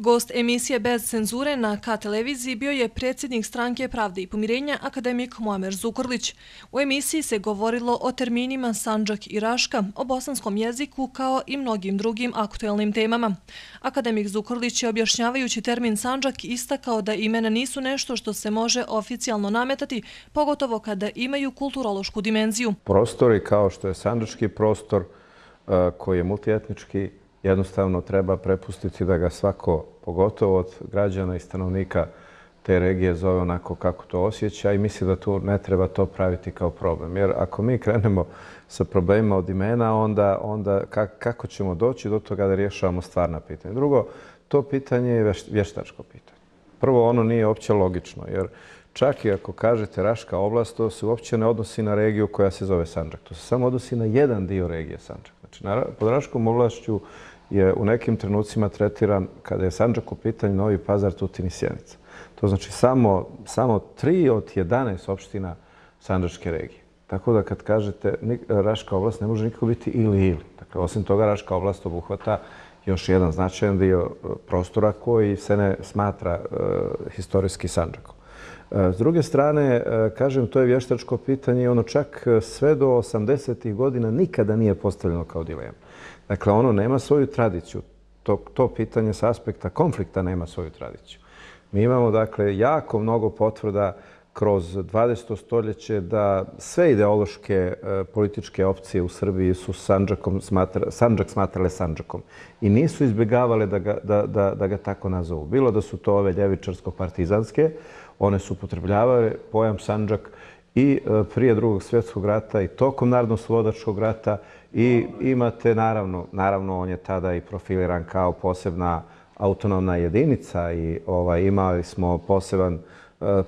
Gost emisije Bez cenzure na K televiziji bio je predsjednik Stranke Pravde i pomirenja akademik Muamer Zukorlić. U emisiji se govorilo o terminima Sandžak i Raška, o bosanskom jeziku kao i mnogim drugim aktuelnim temama. Akademik Zukorlić je objašnjavajući termin Sandžak istakao da imena nisu nešto što se može oficijalno nametati, pogotovo kada imaju kulturološku dimenziju. Prostori kao što je sandžački prostor koji je multietnički, jednostavno treba prepustiti da ga svako, pogotovo od građana i stanovnika te regije, zove onako kako to osjeća i misli da tu ne treba to praviti kao problem. Jer ako mi krenemo sa problemima od imena, onda kako ćemo doći do toga da rješavamo stvarna pitanja? Drugo, to pitanje je vještačko pitanje. Prvo, ono nije uopće logično, jer čak i ako kažete Raška oblast, to se uopće ne odnosi na regiju koja se zove Sandžak. To se samo odnosi na jedan dio regije Sandžak. Znači, pod Raškom oblašću je u nekim trenucima tretiran, kada je Sandžak u pitanju, Novi Pazar, Tutin i Sjenica. To znači samo 3 od 11 opština sandžačke regije. Tako da kad kažete Raška oblast, ne može nikako biti ili. Dakle, osim toga, Raška oblast obuhvata još jedan značajan dio prostora koji se ne smatra historijski Sandžakom. S druge strane, kažem, to je vještačko pitanje i ono čak sve do 80. godina nikada nije postavljeno kao dilema. Dakle, ono nema svoju tradiciju. To pitanje s aspekta konflikta nema svoju tradiciju. Mi imamo, dakle, jako mnogo potvrda kroz 20. stoljeće da sve ideološke političke opcije u Srbiji su Sandžak smatrale Sandžakom i nisu izbjegavale da ga tako nazovu. Bilo da su to ove ljevičarsko-partizanske, one su upotrebljavale pojam Sandžak i prije Drugog svjetskog rata i tokom Narodno-slobodačkog rata i imate, naravno, on je tada i profiliran kao posebna autonomna jedinica i imali smo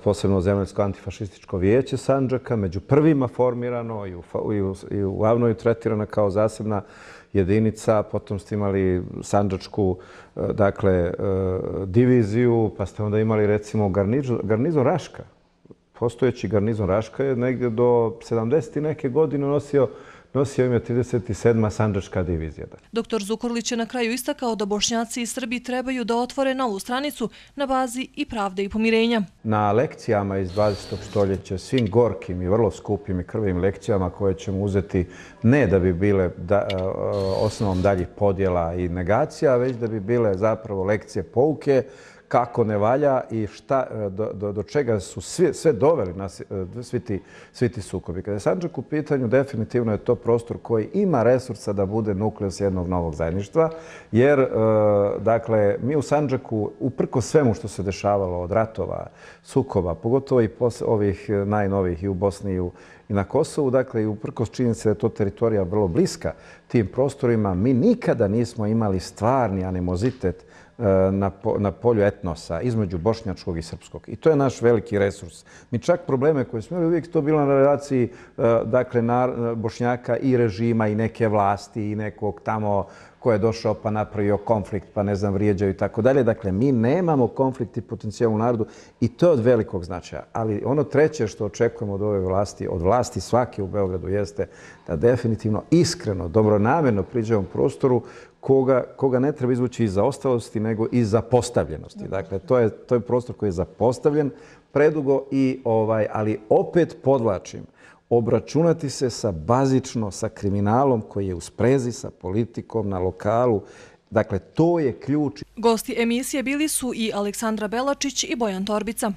posebno Zemaljsko antifašističko vijeće Sandžaka, među prvima formirano i u Avnoju tretirana kao zasebna jedinica. Potom ste imali sandžačku, dakle, diviziju, pa ste onda imali, recimo, garnizon Raška. Postojeći garnizon Raška je negdje do 70. neke godine nosio ime 37. sandžačka divizija. Dr. Zukorlić je na kraju istakao da Bošnjaci i Srbi trebaju da otvore novu stranicu na bazi i pravde i pomirenja. Na lekcijama iz 20. stoljeća, svim gorkim i vrlo skupim i krvim lekcijama koje ćemo uzeti ne da bi bile osnovom daljih podjela i negacija, već da bi bile zapravo lekcije pouke, kako ne valja i do čega su sve doveli svi ti sukobi. Kada je Sandžak u pitanju, definitivno je to prostor koji ima resursa da bude nukleus jednog novog zajedništva, jer, dakle, mi u Sandžaku, uprkos svemu što se dešavalo od ratova, sukoba, pogotovo i ovih najnovijih i u Bosni i na Kosovu, dakle, i uprkos činjenice da je to teritorija vrlo bliska tim prostorima, mi nikada nismo imali stvarni animozitet na polju etnosa između bošnjačkog i srpskog. I to je naš veliki resurs. Mi čak probleme koje smo imali, uvijek to bilo na relaciji, dakle, Bošnjaka i režima i neke vlasti i nekog tamo ko je došao pa napravio konflikt, pa ne znam, vrijeđaju i tako dalje. Dakle, mi nemamo konflikt i potencijal u narodu i to je od velikog značaja. Ali ono treće što očekujemo od ove vlasti, od vlasti svake u Beogradu, jeste da definitivno iskreno, dobronamjerno priđemo prostoru koga ne treba izvući iz zaostalosti, nego iz zapostavljenosti. Dakle, to je prostor koji je zapostavljen predugo, ali opet podvlačim, obračunati se sa kriminalom koji je u sprezi sa politikom na lokalu. Dakle, to je ključ. Gosti emisije bili su i Aleksandra Belačić i Bojan Torbica.